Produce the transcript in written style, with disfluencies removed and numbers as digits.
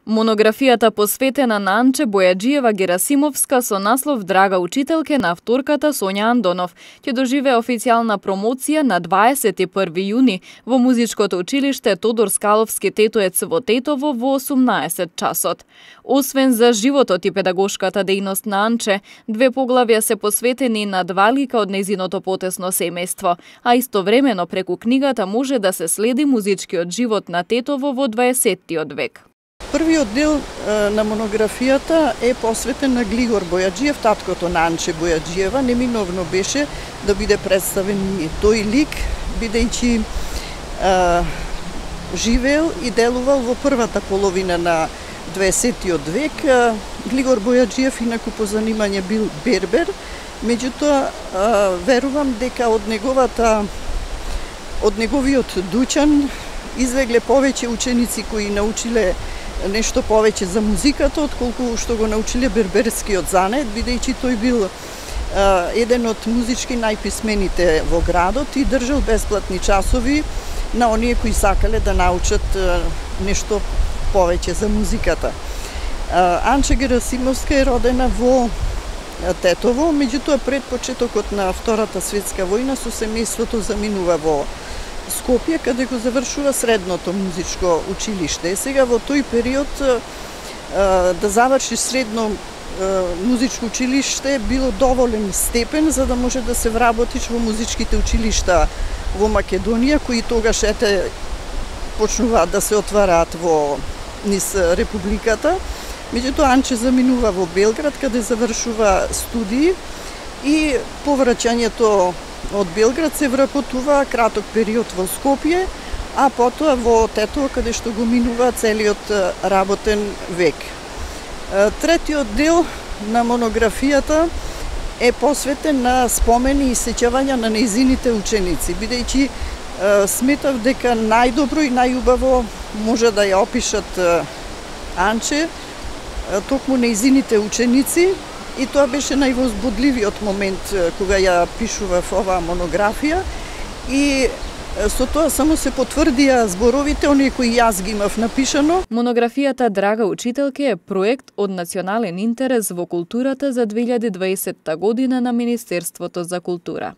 Монографијата посветена на Анче Бојаджиева Герасимовска со наслов Драга учителке на авторката Сонја Андонов ќе доживее официјална промоција на 21 јуни во музичкото училиште Тодор Скаловски Тетоец во Тетово во 18 часот. Освен за животот и педагошката дејност на Анче, две поглавја се посветени на два лика од нејзиното потесно семејство, а истовремено преку книгата може да се следи музичкиот живот на Тетово во 20-тиот век. Првиот дел на монографијата е посветен на Глигор Бојаджиев, таткото на Анче Бојаджиева. Неминовно беше да биде представен и тој лик, бидејќи живеел и делувал во првата половина на 20-тиот век. Глигор Бојаджиев инаку по занимање бил бербер, меѓутоа верувам дека од неговиот дуќан излегле повеќе ученици кои научиле нешто повеќе за музиката, отколку што го научиле берберскиот занет, бидејќи тој бил еден од музички најписмените во градот и држал бесплатни часови на оние кои сакале да научат нешто повеќе за музиката. Анче Герасимовска е родена во Тетово, меѓутоа пред почетокот на Втората светска војна со семејството заминува во Скопје, каде го завршува средното музичко училиште. Сега во тој период да заврши средно музичко училиште било доволен степен за да може да се вработиш во музичките училишта во Македонија, кои тогаш почнуваат да се отвараат во низ републиката. Меѓутоа Анче заминува во Белград, каде завршува студии и по враќањето од Белград се вработува краток период во Скопје, а потоа во Тетово, каде што го минува целиот работен век. Третиот дел на монографијата е посветен на спомени и сеќавања на нејзините ученици, бидејќи сметав дека најдобро и најубаво може да ја опишат Анче токму нејзините ученици. И тоа беше највозбудливиот момент кога ја пишував оваа монографија и со тоа само се потврдија зборовите оние кои јас ги имав напишано. Монографијата Драга учителке е проект од национален интерес во културата за 2020 година на Министерството за култура.